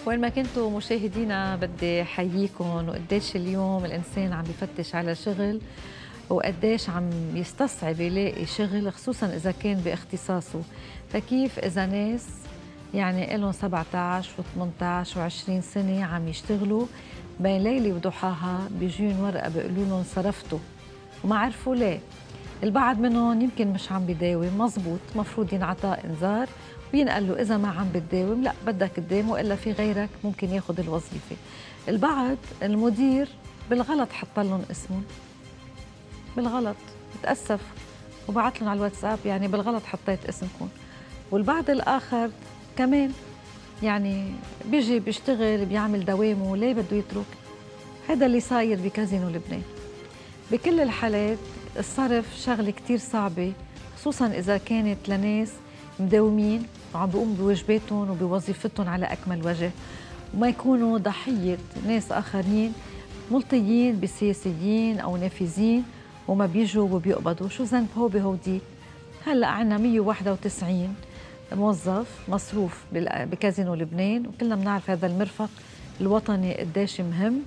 وين ما كنتوا مشاهدينا بدي حييكم، وقديش اليوم الإنسان عم بفتش على شغل وقديش عم يستصعب يلاقي شغل، خصوصا إذا كان باختصاصه. فكيف إذا ناس يعني إلهم 17 و18 و20 سنة عم يشتغلوا بين ليلة وضحاها بيجون ورقة بيقولوا لهم صرفتوا وما عرفوا ليه. البعض منهم يمكن مش عم بيداوم مزبوط، مفروض ينعطى إنذار وينقال له إذا ما عم بتداوم لا بدك تداوم وإلا في غيرك ممكن ياخد الوظيفة. البعض المدير بالغلط حط لهم اسمهم، بالغلط بتأسف وبعت لهم على الواتساب يعني بالغلط حطيت اسمكم. والبعض الآخر كمان يعني بيجي بيشتغل بيعمل دوامه ليه بده يترك. هذا اللي صاير بكازينو لبنان. بكل الحالات الصرف شغلة كتير صعبة، خصوصا إذا كانت لناس مداومين وعم بيقوموا بواجباتهم وبوظيفتهم على أكمل وجه، وما يكونوا ضحية ناس آخرين ملطيين بسياسيين أو نافذين وما بيجوا وبيقبضوا. شو ذنب هو بهودي؟ هلأ عنا 191 موظف مصروف بكازينو لبنان، وكلنا بنعرف هذا المرفق الوطني قديش مهم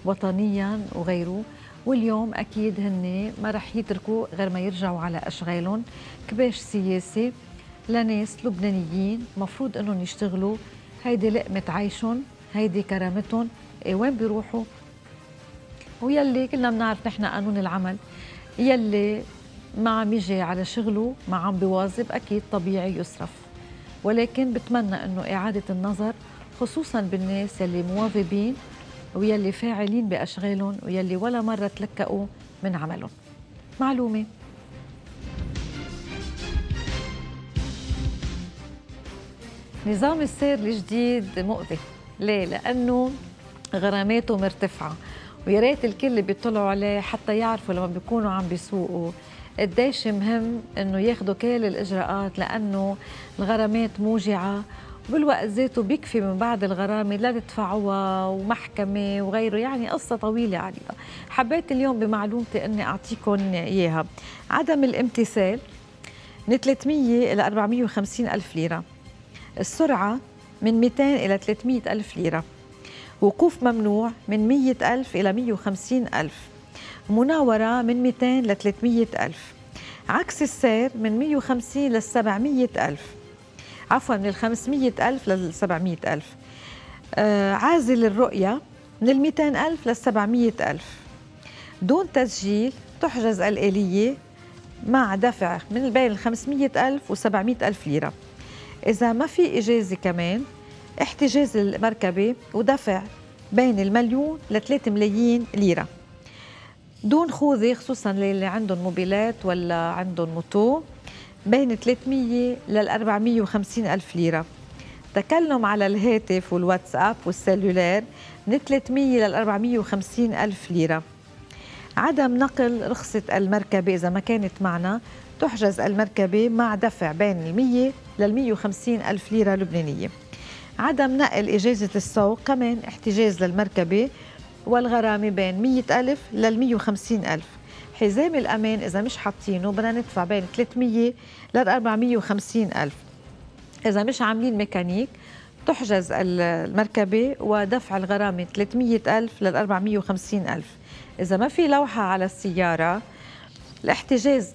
وطنيا وغيره. واليوم أكيد هن ما رح يتركوا غير ما يرجعوا على أشغالهم. كباش سياسي لناس لبنانيين مفروض أنهم يشتغلوا، هيدي لقمة عيشهم، هيدي كرامتهم. وين بيروحوا؟ ويلي كلنا بنعرف نحن قانون العمل، يلي ما عم يجي على شغله ما عم بيواظب أكيد طبيعي يصرف. ولكن بتمنى أنه إعادة النظر خصوصا بالناس يلي مواظبين ويلي فاعلين بأشغالهم ويلي ولا مرة تلكأوا من عملهم. معلومة نظام السير الجديد مؤذي. ليه؟ لأنه غراماته مرتفعة، ويا ريت الكل اللي بيطلعوا عليه حتى يعرفوا لما بيكونوا عم بيسوقوا قديش مهم انه ياخدوا كل الاجراءات، لانه الغرامات موجعة وبالوقت ذاته بيكفي من بعد الغرامة لا تدفعوها ومحكمة وغيره، يعني قصة طويلة عليها. حبيت اليوم بمعلومتي اني اعطيكم اياها. عدم الامتثال من 300 إلى 450 ألف ليرة، السرعة من 200 إلى 300 ألف ليرة، وقوف ممنوع من 100 ألف إلى 150 ألف، مناورة من 200 ل 300 ألف، عكس السير من 150 ل 700 ألف، عفوا من 500 ألف ل 700 ألف، عازل الرؤية من 200 ألف ل 700 ألف. دون تسجيل تحجز الآلية مع دفع من بين 500 ألف و 700 ألف ليرة. إذا ما في إجازة كمان احتجاز المركبة ودفع بين 1,000,000 ل 3 ملايين ليرة. دون خوذة خصوصا للي عندهم موبيلات ولا عندهم موتو بين 300 لل 450 ألف ليرة. تكلم على الهاتف والواتساب والسلولار من 300 لل 450 ألف ليرة. عدم نقل رخصة المركبة إذا ما كانت معنا تحجز المركبة مع دفع بين 100 لل 150 ألف ليرة لبنانية. عدم نقل إجازة السوق كمان احتجاز للمركبة والغرامة بين 100 ألف لل 150 ألف. حزام الأمان إذا مش حاطينه بدنا ندفع بين 300 لل 450 ألف. إذا مش عاملين ميكانيك تحجز المركبة ودفع الغرامة 300 ألف لل 450 ألف. إذا ما في لوحة على السيارة الاحتجاز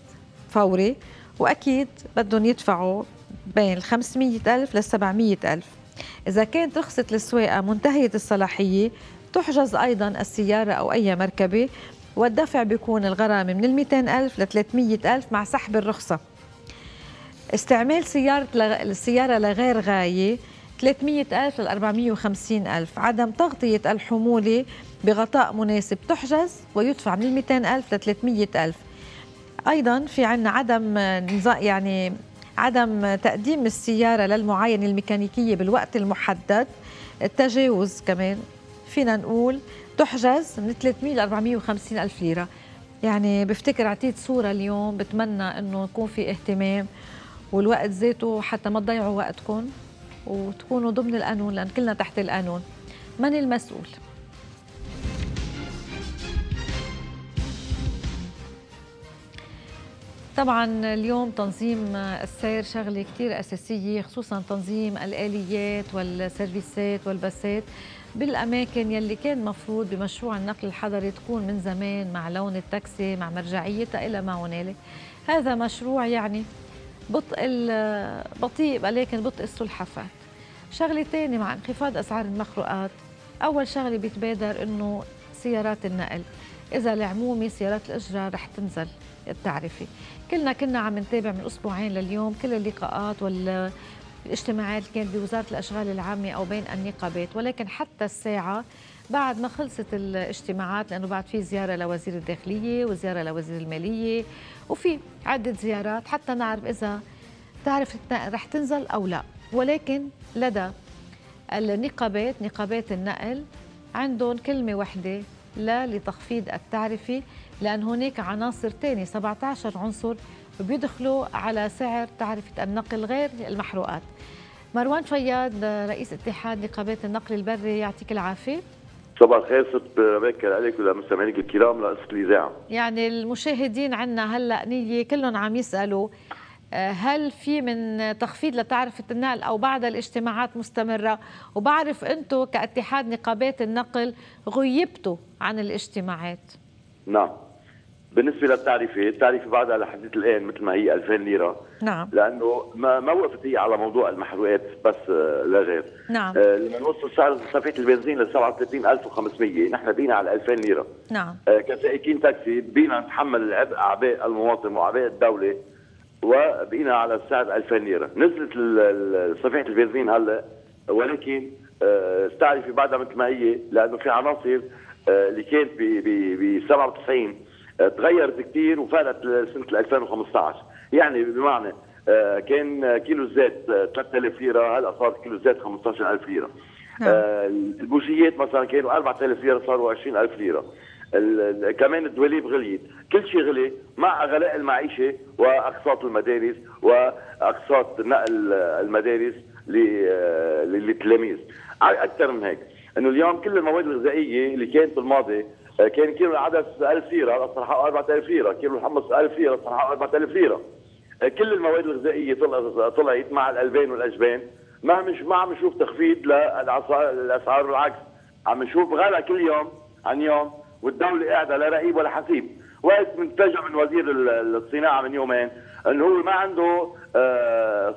فوري، وأكيد بدهم يدفعوا بين 500 ألف ل 700 ألف. إذا كانت رخصة السواقة منتهية الصلاحية تحجز أيضاً السيارة أو أي مركبة، والدفع بيكون الغرامة من 200 ألف ل 300 ألف مع سحب الرخصة. استعمال السيارة لغير غاية 300 ألف ل 450 ألف. عدم تغطية الحمولة بغطاء مناسب تحجز ويدفع من 200 ألف ل 300 ألف. أيضاً في عنا عدم تقديم السيارة للمعاينة الميكانيكية بالوقت المحدد. التجاوز كمان فينا نقول تحجز من 300 ل 450 ألف ليرة. يعني بفتكر عطيت صورة اليوم، بتمنى أنه يكون في اهتمام والوقت ذاته حتى ما تضيعوا وقتكم وتكونوا ضمن القانون، لأن كلنا تحت القانون. من المسؤول؟ طبعا اليوم تنظيم السير شغلة كتير أساسية، خصوصا تنظيم الآليات والسيرفيسات والبسات بالأماكن يلي كان مفروض بمشروع النقل الحضري تكون من زمان مع لون التاكسي مع مرجعيتها إلى ما هنالك. هذا مشروع يعني بطيء ولكن بطء السلحفاة. شغلة تانية مع انخفاض أسعار المخروقات، أول شغلة بيتبادر إنه سيارات النقل، إذا العمومي سيارات الإجرة رح تنزل التعرفة. كنا عم نتابع من أسبوعين لليوم كل اللقاءات والاجتماعات اللي كانت بوزارة الأشغال العامة أو بين النقابات، ولكن حتى الساعة بعد ما خلصت الاجتماعات، لأنه بعد في زيارة لوزير الداخلية وزيارة لوزير المالية وفي عدة زيارات حتى نعرف إذا تعرف رح تنزل أو لا. ولكن لدى النقابات، نقابات النقل، عندهم كلمة واحدة: لا لتخفيض التعرفة، لأن هناك عناصر تانية 17 عنصر بيدخلوا على سعر تعرفة النقل غير المحروقات. مروان فياض رئيس اتحاد نقابات النقل البري، يعطيك العافية. صباح الخير ست باكر عليك ولمستمعينك الكرام لقصة الإذاعة. يعني المشاهدين عنا هلا نية كلهم عم يسألوا هل في من تخفيض لتعرفة النقل أو بعد الاجتماعات مستمرة؟ وبعرف أنتم كاتحاد نقابات النقل غيبتوا عن الاجتماعات. نعم، بالنسبة للتعرفة، التعرفة بعدها لحديث الآن مثل ما هي 2000 ليرة. نعم. لأنه ما وقفت هي على موضوع المحروقات بس لا غير. نعم. لما نوصل سعر صفيحة البنزين ل 37500 نحن بينا على 2000 ليرة. نعم. كسائقين تاكسي بينا نتحمل العبء أعباء المواطن وأعباء الدولة، وبقينا على السعر 2000 ليرة. نزلت صفيحة البنزين هلا، ولكن التعرفة بعدها مثل ما هي، لأنه في عناصر اللي كانت ب 97 تغيرت كثير وفارت سنة 2015. يعني بمعنى كان كيلو الزيت 3000 ليرة، هلا صار كيلو الزيت 15000 ليرة. البوجيات مثلا كانوا 4000 ليرة صاروا 20000 ليرة. كمان الدواليب غليت، كل شيء غلي مع غلاء المعيشة وأقساط المدارس وأقساط نقل المدارس للتلاميذ. أكثر من هيك إنه اليوم كل المواد الغذائية اللي كانت بالماضي كان كيلو العدس 1000 ليرة، هلا صار حقه 4000 ليرة، كيلو الحمص 1000 ليرة، صار حقه 4000 ليرة. كل المواد الغذائية طلعت مع الألبان والأجبان. ما عم نشوف تخفيض للأسعار، بالعكس عم نشوف غلا كل يوم عن يوم، والدولة قاعدة لا رقيب ولا حسيب. وقت منتجع من وزير الصناعة من يومين انه هو ما عنده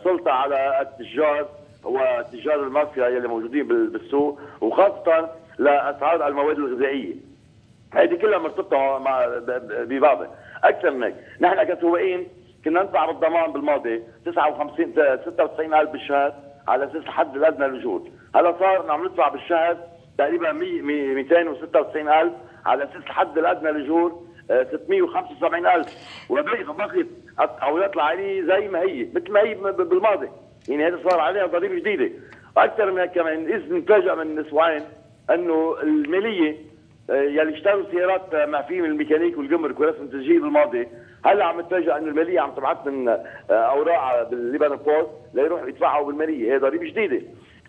سلطة على التجار وتجار المافيا يلي موجودين بالسوق، وخاصة لأسعار المواد الغذائية. هذه كلها مرتبطة ببعضها. أكثر من هيك، نحن كسواقين كنا ندفع بالضمان بالماضي 96,000 بالشهر على أساس الحد الأدنى للأجور. هلا صار عم ندفع بالشهر تقريبا 296,000 على أساس الحد الأدنى للأجور 675,000، وبقيت التعويضات العالية زي ما هي مثل ما هي بالماضي. يعني هذا صار عليها ضريبة جديدة. وأكثر من هيك كمان، إذ نتفاجأ من أسبوعين أنه المالية يلي اشتروا سيارات معفية من الميكانيك والجمرك ورسم التسجيل بالماضي، هلا عم نتفاجأ انه المالية عم تبعث من اوراق بالليبان بوست ليروحوا يدفعوا بالمالية. هي ضريبة جديدة.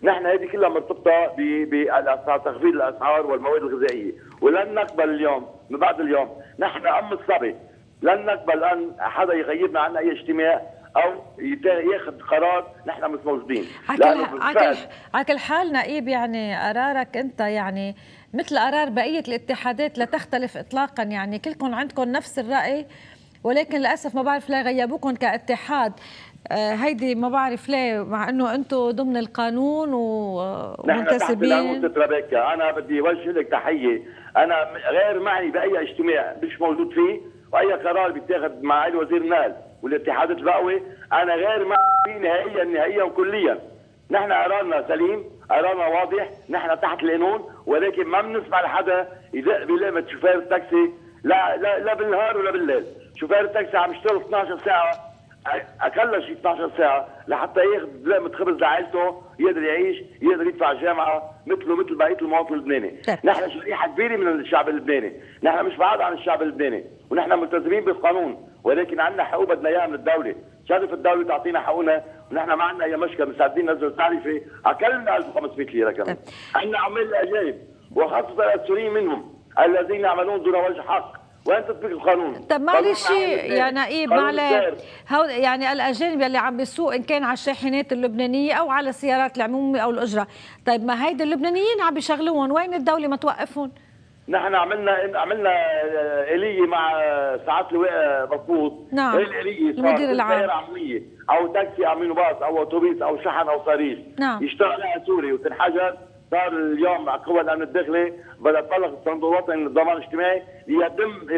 نحن هذه كلها مرتبطة بالاسعار، تخفيض الاسعار والمواد الغذائية، ولن نقبل اليوم من بعد اليوم، نحن ام الصبي، لن نقبل ان حدا يغيبنا عن اي اجتماع او ياخذ قرار نحن مش موجودين. على كل حال نقيب، يعني قرارك انت يعني مثل قرار بقية الاتحادات لا تختلف اطلاقا، يعني كلكم عندكم نفس الرأي، ولكن للاسف ما بعرف ليه غيبوكم كاتحاد. هيدي ما بعرف ليه، مع انه انتم ضمن القانون ومنتسبين. نحن تحت انا بدي اوجه لك تحيه، انا غير معني باي اجتماع مش موجود فيه، واي قرار بيتاخذ مع علي وزير النقل والاتحادات البقوي انا غير معني فيه نهائيا وكليا. نحن قرارنا سليم، قرارنا واضح، نحن تحت القانون، ولكن ما بنسمع لحدا يدق بلقمة شوفير التاكسي لا بالنهار ولا بالليل. شوفير التاكسي عم يشتغل 12 ساعة، اقل شيء 12 ساعة لحتى ياخذ لقمة خبز لعائلته، يقدر يعيش، يقدر يدفع الجامعة مثل بقية المواطن اللبناني. نحن شريحة كبيرة من الشعب اللبناني، نحن مش بعاد عن الشعب اللبناني، ونحن ملتزمين بالقانون، ولكن عندنا حقوق بدنا اياها من الدولة. شرف الدولة تعطينا حقوقنا، ونحن ما عندنا اي مشكلة، مستعدين ننزل التعرفة اقل من 1500 ليرة كمان. عندنا عمال الاجانب وخاصة السوريين منهم الذين يعملون دون وجه حق وين تطبيق القانون؟ طب معلش يا نقيب، يعني الاجانب اللي عم بيسوق ان كان على الشاحنات اللبنانيه او على السيارات العموميه او الاجره، طيب ما هيدي اللبنانيين عم بيشغلوهم، وين الدوله ما توقفهم؟ نحن عملنا آلية مع ساعات اللواء مضبوط. نعم. هي الآلية المدير العام سيارة عمومية او تاكسي او مينوباص او اتوبيس او شحن او صريح. نعم. يشتغل عليها سوري وتنحجر. صار اليوم مع قوى الامن الداخلي بدأ تطلق الصندوق الوطني للضمان الاجتماعي ليتم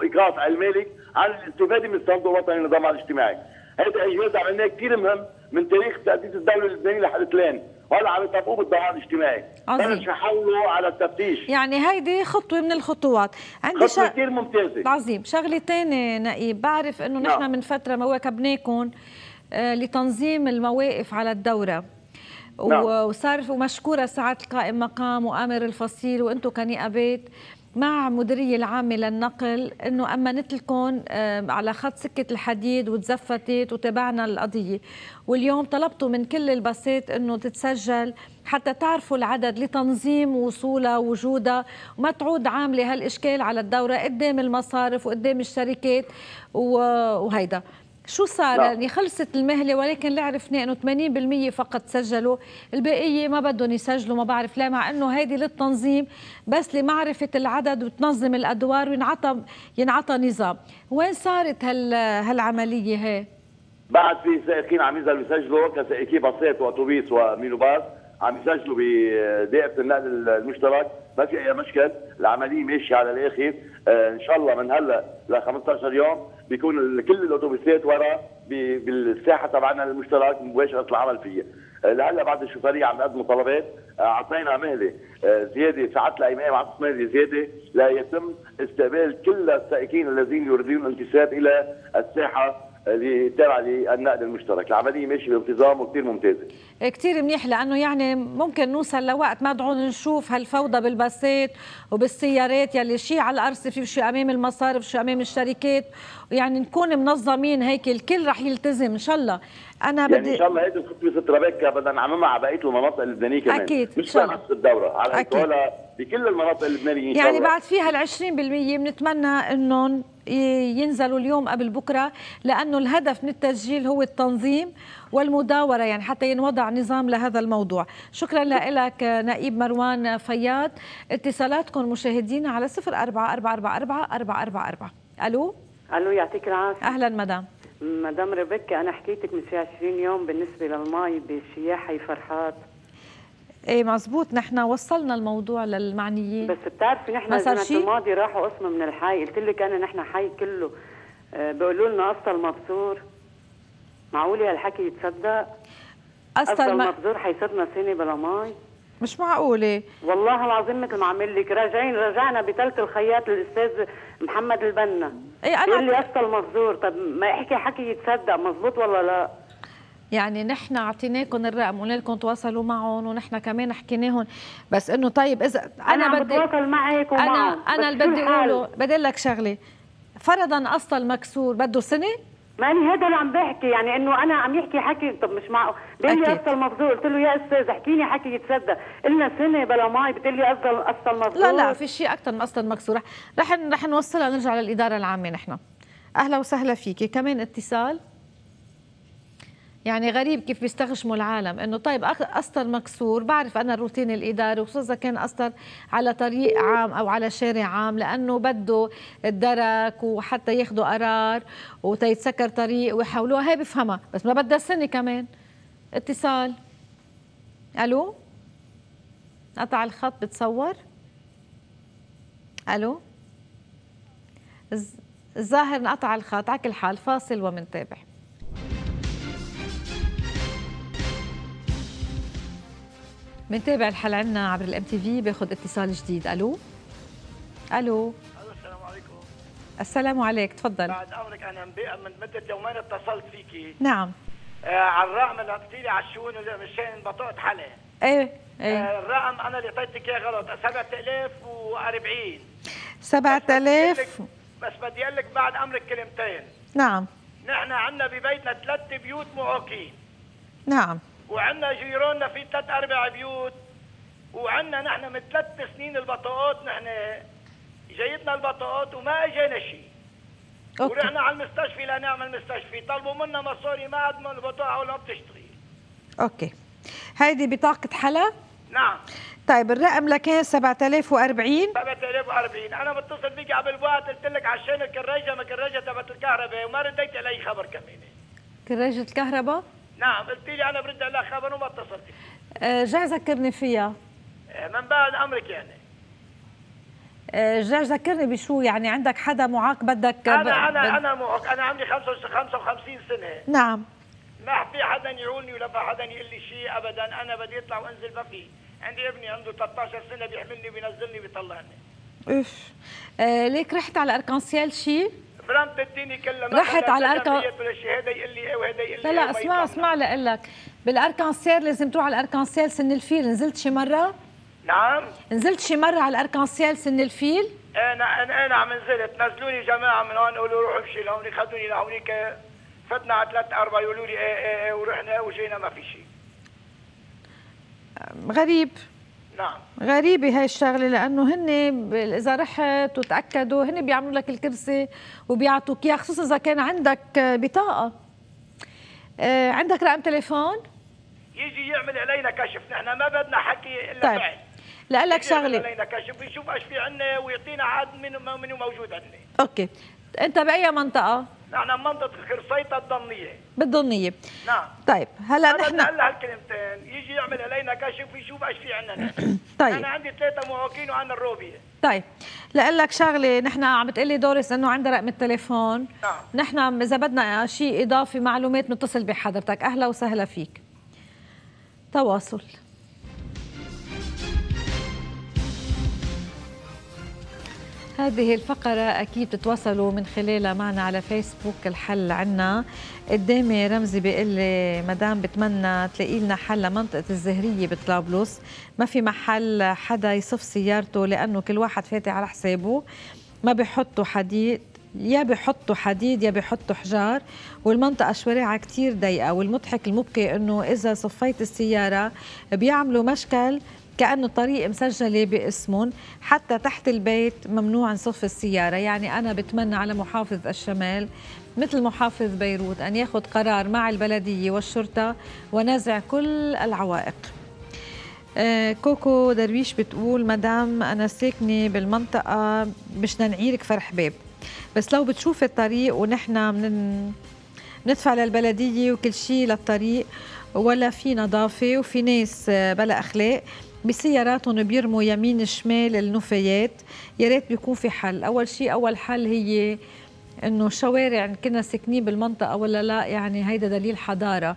ايقاف على المالك عن الاستفاده من الصندوق الوطني للضمان الاجتماعي. هذا اجراء عملناه كثير مهم من تاريخ تاسيس الدوله اللبنانيه لحد الان، وهلا عم يطبقوه بالضمان الاجتماعي. عظيم. حولوا على التفتيش. يعني هيدي خطوه من الخطوات. عندي خطوه كثير ممتازه. عظيم. شغله ثانيه نقيب، بعرف انه نحن من فتره واكبناكم لتنظيم المواقف على الدوره. وصار ومشكوره سعاده القائم مقام وامر الفصيل وانتم كنقابات مع مديريه العامه للنقل انه امنت لكم على خط سكه الحديد وتزفتت وتابعنا القضيه، واليوم طلبتوا من كل الباصات انه تتسجل حتى تعرفوا العدد لتنظيم وصولها ووجودها وما تعود عامله هالاشكال على الدوره قدام المصارف وقدام الشركات وهيدا. شو صار؟ يعني خلصت المهله، ولكن اللي عرفناه انه 80% فقط سجلوا، البقيه ما بدهم يسجلوا، ما بعرف ليه، مع انه هيدي للتنظيم بس لمعرفه العدد وتنظم الادوار وينعطى نظام. وين صارت هالعمليه هي؟ بعد في سائقين عم يسجلوا كسائقي باصات واتوبيس ومينوباص عم يسجلوا بدائره النقل المشترك، ما في اي مشكل، العمليه ماشيه على الاخر. ان شاء الله من هلا ل 15 يوم بيكون كل الاتوبيسات ورا بالساحه تبعنا المشترك مباشره العمل فيها. لهلا بعد الشوفيريه عم نقدموا طلبات، اعطينا مهله زياده ساعات الايام، اعطت مهله زياده ليتم استقبال كل السائقين الذين يريدون الانتساب الى الساحه اللي تابعه للنقل المشترك. العمليه ماشيه بانتظام وكثير ممتازه. كثير منيح، لانه يعني ممكن نوصل لوقت ما نقعد نشوف هالفوضى بالباصات وبالسيارات يلي شيء على الارصفه وشيء امام المصارف وشيء امام الشركات، ويعني نكون منظمين هيك الكل رح يلتزم ان شاء الله. انا بدي ان شاء الله هيدي الخطوه سترابيكا بدنا نعممها على بقيه المناطق اللبنانيه كمان. اكيد مش بس الدوره، على هيك بكل المناطق اللبنانيه ان شاء الله. يعني بعد فيها ال 20% بنتمنى انهم ينزلوا اليوم قبل بكره، لانه الهدف من التسجيل هو التنظيم والمداوره، يعني حتى ينوضع نظام لهذا الموضوع. شكرا لك نقيب مروان فياض. اتصالاتكم مشاهدينا على 04444444. الو يعطيك العافيه. اهلا مدام. مدام ريبيكا، انا حكيتك من شي 20 يوم بالنسبه للمي بشياح حي فرحات. ايه مزبوط، نحن وصلنا الموضوع للمعنيين، بس بتعرفي نحن السنه الماضيه راحوا قسم من الحي، قلت لك انا نحن حي كله بيقولوا لنا قصة المبذور. معقوله هالحكي يتصدق؟ قصة المبذور حيصيرنا سنه بلا مي؟ مش معقوله والله العظيم. مثل ما عمل لك رجعنا بثلث الخياط الاستاذ محمد البنا. ايه بيقول لي قصة المبذور. طب ما يحكي حكي يتصدق، مزبوط ولا لا؟ يعني نحن اعطيناكم الرقم وقلنا لكم تواصلوا معهم، ونحن كمان حكيناهم، بس انه طيب اذا انا بدي اتواصل معك ومعهم. انا اللي بدي اقوله، بدي لك شغله، فرضا قصة المكسور بده سنه؟ ماني هذا اللي عم بحكي، يعني انه انا عم يحكي حكي. طب مش معقول. بيقول لي قصة المبذور، قلت له يا استاذ احكيني حكي يتصدق، قلنا سنه بلا مي، بتقول لي قصة المبذور. لا في شيء اكثر من قصة المكسور. رح نوصلها، نرجع للاداره العامه نحن. اهلا وسهلا فيكي. كمان اتصال. يعني غريب كيف بيستغشموا العالم انه طيب قسطر مكسور. بعرف انا الروتين الاداري، وخصوصا اذا كان قسطر على طريق عام او على شارع عام، لانه بده الدرك وحتى ياخذوا قرار وتيتسكر طريق ويحولوها، هي بفهمها، بس ما بدها سنه كمان. اتصال. الو، قطع الخط بتصور. الو، الظاهر انقطع الخط. على كل حال فاصل ومنتابع. بنتابع الحلقة عنا عبر الام تي في. باخذ اتصال جديد. الو السلام عليكم. السلام عليك، تفضل. بعد امرك، انا من مده يومين اتصلت فيكي. نعم. على الرقم اللي قلتي لي على الشؤون مشان بطاقه حلا. ايه الرقم انا اللي اعطيتك اياه غلط، 7040. 7000. بس بدي اقول لك بعد امرك كلمتين. نعم. نحن عندنا ببيتنا 3 بيوت معاقين. نعم. وعندنا جيراننا في 3-4 بيوت، وعندنا نحن من 3 سنين البطاقات نحن جايتنا البطاقات وما اجينا شيء. ورحنا على المستشفى لنعمل مستشفى، طلبوا منا مصاري ما عاد من البطاقه ولا بتشتغل. اوكي، هيدي بطاقة حلا؟ نعم. طيب الرقم لكان 7040. 7040. انا بتصل بيك قبل وقت قلت لك عشان الكراجه ما كراجه تبعت الكهرباء وما رديت علي خبر كمان. كراجة الكهرباء؟ نعم، قلت لي انا برد عليك خبر وما اتصلت. رجع ذكرني فيها. من بعد امرك يعني. رجع ذكرني بشو يعني، عندك حدا معاق بدك؟ انا معاق، انا عندي 55 سنه. نعم. ما في حدا يعولني ولا في حدا يقول لي شيء ابدا، انا بدي اطلع وانزل ما في. عندي ابني عنده 13 سنه بيحملني بينزلني بيطلعني. اف ليك رحت على اركانسيال شيء؟ فرمت الدنيا كلها. رحت على الاركانسيال ولا شيء، هذا يقول لي ايه وهذا يقول لي لا اسمع لأقول لك، بالاركانسيال لازم تروح على الاركانسيال سن الفيل. نزلت شي مره؟ نعم. نزلت شي مره على الاركانسيال سن الفيل؟ انا نزلت، نزلوني جماعه من هون قالوا روحوا امشي لهونيك، خذوني لهونيك، فتنا على 3-4 يقولوا لي ايه ورحنا وجينا ما في شيء. غريب. نعم. غريبة هاي الشغلة، لأنه هن إذا رحت وتأكدوا هن بيعملوا لك الكرسي وبيعطوك إياه، خصوصا إذا كان عندك بطاقة. عندك رقم تليفون؟ يجي يعمل علينا كشف، نحن ما بدنا حكي إلا طيب. بعد. لأقول لك شغلة. يعمل علينا كشف ويشوف ايش في عنا ويعطينا عاد منو موجود عندنا. أوكي. أنت بأي منطقة؟ نحن منطقة خرصيطة الضمنية. بالضمنية. نعم. طيب هلا نحن هلا هالكلمتين، يجي يعمل علينا كشف ويشوف ايش في عندنا. طيب. انا عندي 3 معاقين وعنا الروبية. طيب لأقول لك شغلة، نحن عم بتقلي دوريس انه عندها رقم التليفون. نعم. نحن إذا بدنا شيء إضافي معلومات نتصل بحضرتك. أهلا وسهلا فيك. تواصل. هذه الفقرة أكيد تتواصلوا من خلالها معنا على فيسبوك. الحل عنا قدامي رمزي بيقول لي مدام بتمنى تلاقي لنا حل لمنطقة الزهرية بطرابلس، ما في محل حدا يصف سيارته لأنه كل واحد فاتح على حسابه، ما بيحطوا حديد، يا بيحطوا حديد يا بيحطوا حجار، والمنطقة شوارعها كتير ضيقة، والمضحك المبكي إنه إذا صفيت السيارة بيعملوا مشكل كأنه طريق مسجلة باسمهم، حتى تحت البيت ممنوع نصف السيارة. يعني أنا بتمنى على محافظ الشمال مثل محافظ بيروت أن ياخذ قرار مع البلدية والشرطة ونزع كل العوائق. كوكو درويش بتقول مدام أنا ساكنة بالمنطقة مش بدنا نعيرك فرح باب، بس لو بتشوف الطريق ونحن ندفع للبلدية وكل شيء للطريق ولا في نظافة وفي ناس بلا أخلاق بسياراتهم بيرموا يمين شمال النفايات، يا ريت بيكون في حل. أول حل هي إنه الشوارع كنا ساكنين بالمنطقة ولا لا، يعني هيدا دليل حضارة،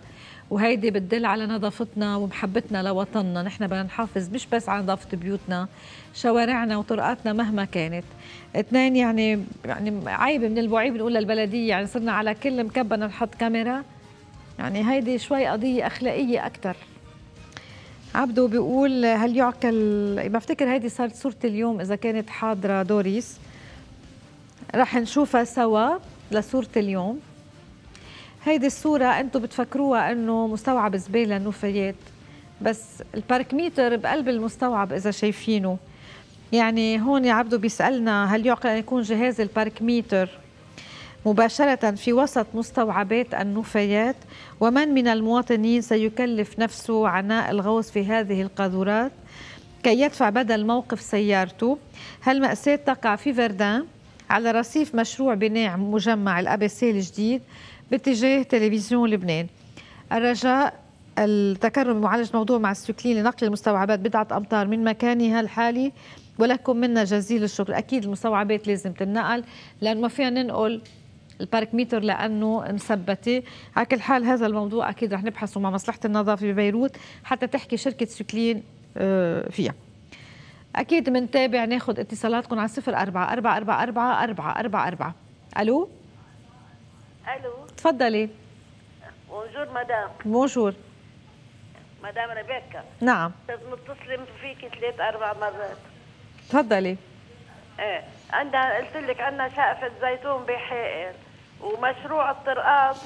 وهيدي بتدل على نظافتنا ومحبتنا لوطننا. نحن بدنا نحافظ مش بس على نظافة بيوتنا، شوارعنا وطرقاتنا مهما كانت. 2 يعني عيب من البعيد بنقول للبلدية، يعني صرنا على كل مكبة نحط كاميرا، يعني هيدي شوي قضية أخلاقية أكتر. عبدو بيقول هل يعقل، بفتكر هيدي صارت صورة اليوم إذا كانت حاضرة دوريس، رح نشوفها سوا لصورة اليوم. هيدي الصورة أنتم بتفكروها أنه مستوعب زبالة النفايات، بس الباركميتر بقلب المستوعب إذا شايفينه. يعني هون يا عبدو بيسألنا هل يعقل أن يكون جهاز الباركميتر مباشرة في وسط مستوعبات النفايات؟ ومن من المواطنين سيكلف نفسه عناء الغوص في هذه القاذورات كي يدفع بدل موقف سيارته؟ هالمأساة تقع في فردان على رصيف مشروع بناء مجمع الأبسي الجديد باتجاه تلفزيون لبنان. الرجاء التكرم بمعالجة الموضوع مع السكلين لنقل المستوعبات بضعة أمتار من مكانها الحالي، ولكم منا جزيل الشكر. أكيد المستوعبات لازم تنقل لأنه ما فينا ننقل الباركميتر لأنه مثبتة. على كل حال هذا الموضوع أكيد رح نبحثه مع مصلحة النظافة ببيروت حتى تحكي شركة سكلين فيها. أكيد منتابع ناخد اتصالاتكم على 04-444-444. ألو. ألو. تفضلي. بونجور مدام. بونجور مدام ريبيكا. نعم. متصلة فيكي 3-4 مرات. تفضلي. ايه عندنا قلت لك عندنا شقفة زيتون بحائل ومشروع الطرقات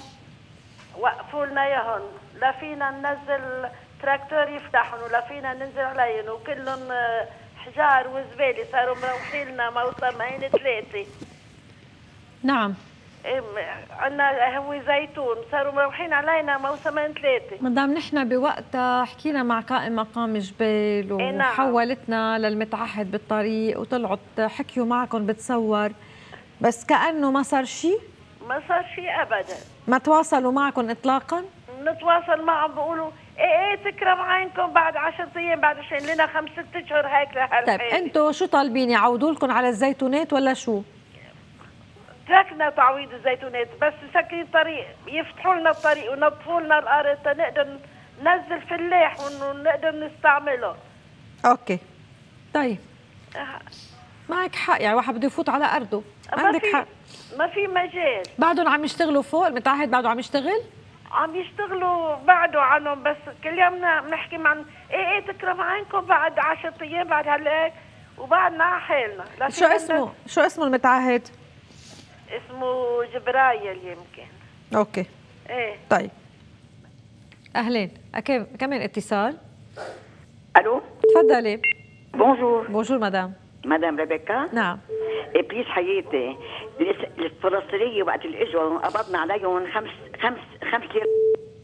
وقفوا لنا اياهم، لا فينا ننزل تراكتور يفتحهم ولا فينا ننزل عليهم، وكلهم حجار وزبالة، صاروا مروحين لنا موسمين 3. نعم. عندنا هو زيتون، صاروا مروحين علينا موسمين 3. مدام نحن بوقتها حكينا مع قائم مقام جبال وحولتنا للمتعهد بالطريق وطلعوا حكيوا معكم بتصور، بس كأنه ما صار شيء؟ ما صار شيء أبدا. ما تواصلوا معكم إطلاقا؟ نتواصل معهم بيقولوا ايه تكرم عينكم بعد 10 أيام، بعد شيء لنا 5-6 أشهر هيك لهالحين. طيب انتوا شو طالبين، يعودوا لكم على الزيتونات ولا شو؟ تركنا تعويض الزيتونات، بس مسكرين طريق، يفتحوا لنا الطريق ونظفوا لنا الارض تنقدر ننزل فلاح ونقدر نستعمله. اوكي طيب معك حق، يعني واحد بده يفوت على ارضه، عندك حق. ما في مجال. بعدهم عم يشتغلوا فوق المتعهد؟ بعده عم يشتغل؟ عم يشتغلوا بعده عنهم، بس كل يوم بنحكي عن ايه تكرم عينكم بعد 10 أيام بعد هالهيك، وبعدنا على حالنا. شو اسمه المتعهد؟ اسمه جبرايل يمكن. اوكي. ايه طيب اهلين، كمان اتصال. الو تفضلي. بونجور. بونجور مدام ريبيكا. نعم. بليز حياتي، الفلسطينية وقت اللي اجوا قبضنا عليهم خمس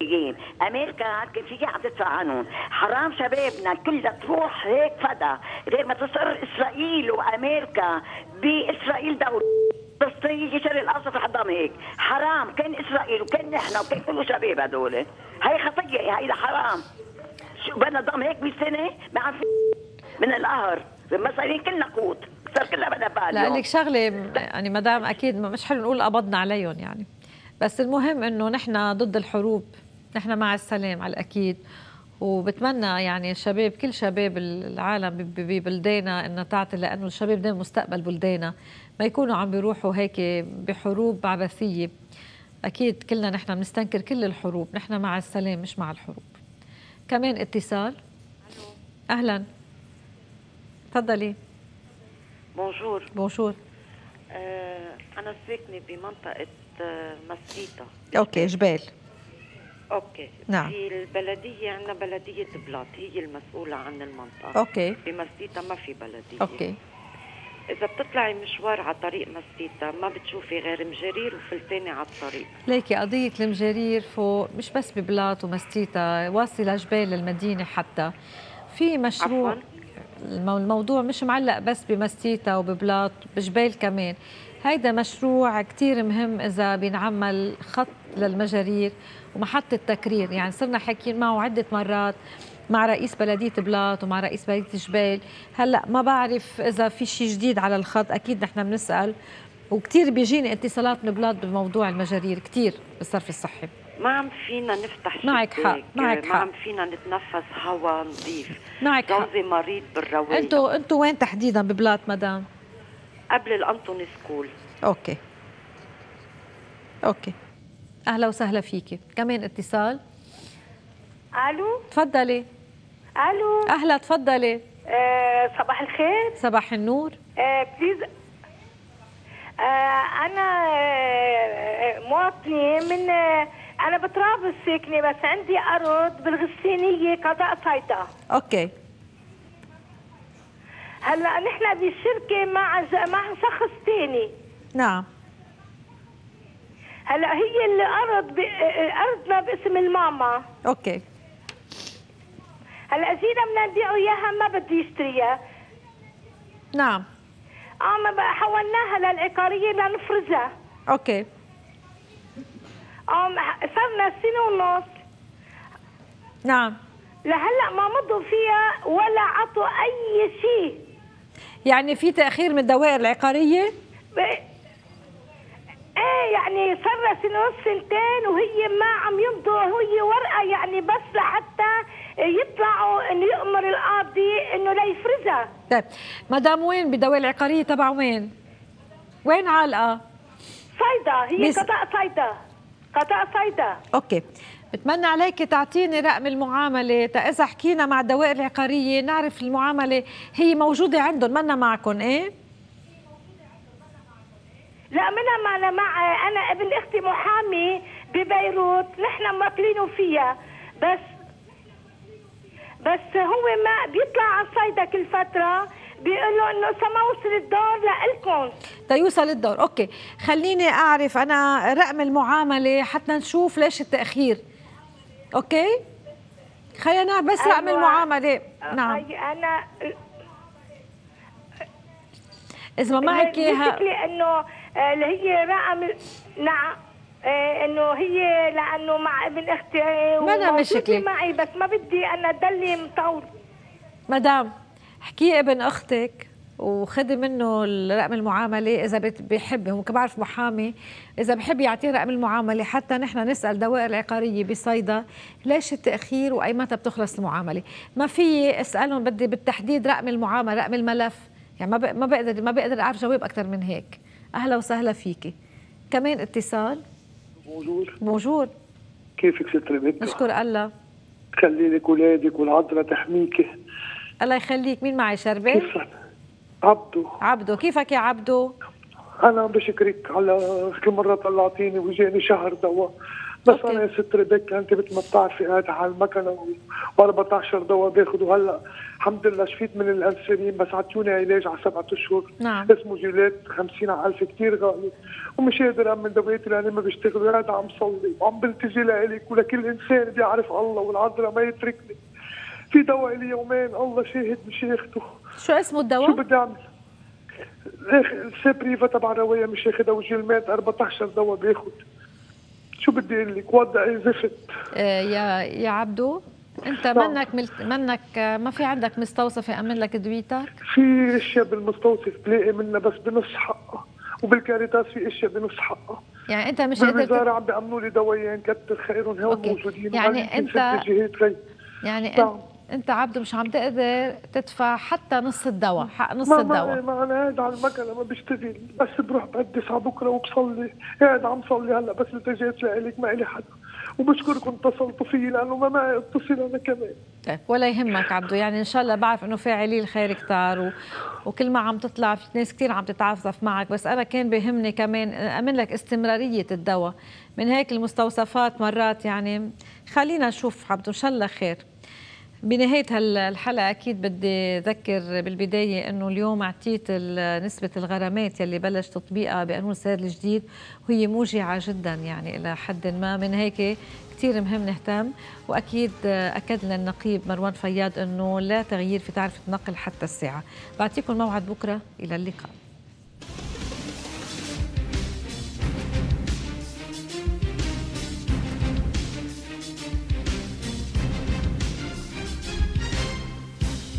ايام. امريكا كان فيها عم تدفع عنهم، حرام شبابنا كلها تروح هيك فدا، غير ما تصر اسرائيل وامريكا باسرائيل دولة فلسطينية شرق الاوسط حضام هيك، حرام. كان اسرائيل وكان نحن وكان كل شباب هدول، هي خطية، هيدا حرام. شو بدنا ضم هيك 100 سنة ما عم من القهر، المصارين كلنا قوت، صار كلها بدها بال. لا لك شغله يعني مدام، اكيد مش حلو نقول قبضنا عليهم يعني، بس المهم انه نحن ضد الحروب، نحن مع السلام على الاكيد، وبتمنى يعني الشباب كل شباب العالم ببلداننا انها تعطي، لانه الشباب ده مستقبل بلداننا، ما يكونوا عم بيروحوا هيك بحروب عبثيه. اكيد كلنا نحن بنستنكر كل الحروب، نحن مع السلام مش مع الحروب. كمان اتصال. اهلا تفضلي. بونجور. بونجور. أنا ساكنة بمنطقة مسيطة. اوكي جبال. اوكي. نعم. في البلدية عندنا بلدية بلاط، هي المسؤولة عن المنطقة. اوكي. بمسيطة ما في بلدية. اوكي. إذا بتطلعي مشوار على طريق مسيطة ما بتشوفي غير مجارير وفلتانة على الطريق. ليكي قضية المجارير فوق مش بس ببلاط ومسيطة، واصلة جبال المدينة حتى. في مشروع عفواً. الموضوع مش معلق بس بمسيطة وببلاط، بجبال كمان. هيدا مشروع كتير مهم إذا بينعمل خط للمجارير ومحطة تكرير، يعني صرنا حاكيين معه عدة مرات مع رئيس بلدية بلاط ومع رئيس بلدية جبال. هلأ ما بعرف إذا في شيء جديد على الخط، أكيد نحن بنسأل، وكتير بيجيني اتصالات من بلاط بموضوع المجارير كتير بالصرف الصحي. ما عم فينا نفتح معك حق، معك حق. ما عم فينا نتنفس هواء نظيف. معك حق. جوزي مريض بالرواية. انتوا وين تحديدا ببلاط مدام؟ قبل الأنطوني سكول. اوكي. اوكي. اهلا وسهلا فيكي. كمان اتصال. الو تفضلي. الو اهلا تفضلي. صباح الخير. صباح النور. بليز انا مواطنه من انا بطرابلس ساكنه، بس عندي ارض بالغسانيه قضاء صيدا. اوكي. هلا نحن بالشركه مع شخص ثاني. نعم. هلا هي الارض ارضنا باسم الماما. اوكي. هلا جينا بدنا نبيعه اياها، ما بده يشتريها. نعم. حولناها للعقاريه لنفرزها. اوكي. صرنا سنه ونص. نعم. لهلا ما مضوا فيها ولا عطوا اي شيء. يعني في تاخير من الدوائر العقاريه؟ ايه يعني صار سنه ونص سنتين وهي ما عم يمضوا، هي ورقه يعني بس لحتى يطلعوا انه يامر القاضي انه لا يفرزها. طيب مدام وين بالدوائر العقاريه تبع وين؟ وين عالقه؟ صيدا، هي قضاء صيدا. قضاء صيدا. اوكي. بتمنى عليك تعطيني رقم المعامله، اذا حكينا مع الدوائر العقاريه نعرف المعامله هي موجوده عندهم منا معكم. ايه؟ لا منا معنا، مع انا ابن اختي محامي ببيروت، نحن موكلينه فيها، بس هو ما بيطلع على الصيدا كل فتره بيقولوا انه ما وصل الدور لإلكم. يوصل الدور. اوكي، خليني اعرف انا رقم المعامله حتى نشوف ليش التاخير. اوكي، خلينا نعرف بس رقم المعامله. نعم، انا اذا ما معك اياها انه اللي هي رقم. نعم، انه هي لانه مع ابن اختي ما أنا مشكلة معي، بس ما بدي انا ضلي مطول. مدام احكي ابن اختك وخدي منه رقم المعامله اذا بيحب، هو بعرف محامي، اذا بحب يعطيه رقم المعامله حتى نحن نسال دوائر العقاريه بصيدا ليش التاخير واي متى بتخلص المعامله. ما في اسالهم بدي بالتحديد رقم المعامله، رقم الملف، يعني ما بقدر اعرف جواب اكثر من هيك. اهلا وسهلا فيكي. كمان اتصال. موجود. كيفك ست ريبيكا؟ نشكر الله. خلي لك اولادك والعذراء تحميكي. الله يخليك. مين معي؟ شربة؟ كيفك؟ عبدو. كيفك يا عبدو؟ انا بشكرك على كل مره طلعتيني وجاني شهر دواء، بس أوكي. انا يا ست ريبيكا انت مثل ما بتعرفي قاعد على المكنه و14 دواء باخذ، وهلا الحمد لله شفيت من الانسولين، بس عطوني علاج على 7 اشهر. نعم. اسمه جيلات 50,000 كثير غالي، ومش قادر امن دوائتي لاني ما بشتغل، وقاعد عم صلي وعم بلتجي لك ولكل انسان بيعرف الله والعذراء ما يتركني. في دواء لي يومين الله شاهد مش اخده. شو اسمه الدواء؟ شو بدي اعمل؟ السبريفا تبع روايه مش اخذها، وجيلمات 14 دواء باخذ. شو بدي اقول لك؟ وضعي زفت. يا عبدو انت منك ما في عندك مستوصف يامن لك دويتك؟ في اشياء بالمستوصف بلاقي منها بس بنص حقها، وبالكاريتاس في اشياء بنص حقها. يعني انت مش قادر بالوزاره عم بيامنوا لي دوايين كتر خيرهم هون موجودين. يعني انت عبدو مش عم تقدر تدفع حتى نص الدواء، حق نص الدواء. ما انا قاعد على المكنه ما بشتغل، بس بروح بقدس على بكره وبصلي، قاعد عم صلي هلا بس التجيت لك ما الي حدا، وبشكركم اتصلتوا فيي لانه ما معي اتصل انا كمان. طيب ولا يهمك عبدو، يعني ان شاء الله بعرف انه فاعلي الخير كتار وكل ما عم تطلع في ناس كثير عم تتعاطف معك، بس انا كان بيهمني كمان امن لك استمراريه الدواء. من هيك المستوصفات مرات يعني خلينا نشوف عبدو ان شاء الله خير. بنهاية الحلقة أكيد بدي أذكر بالبداية أنه اليوم اعطيت نسبة الغرامات يلي بلش تطبيقها بقانون السير الجديد، وهي موجعة جدا يعني إلى حد ما. من هيك كتير مهم نهتم، وأكيد أكد لنا النقيب مروان فياض أنه لا تغيير في تعرفة النقل حتى الساعة. بعطيكم موعد بكرة، إلى اللقاء.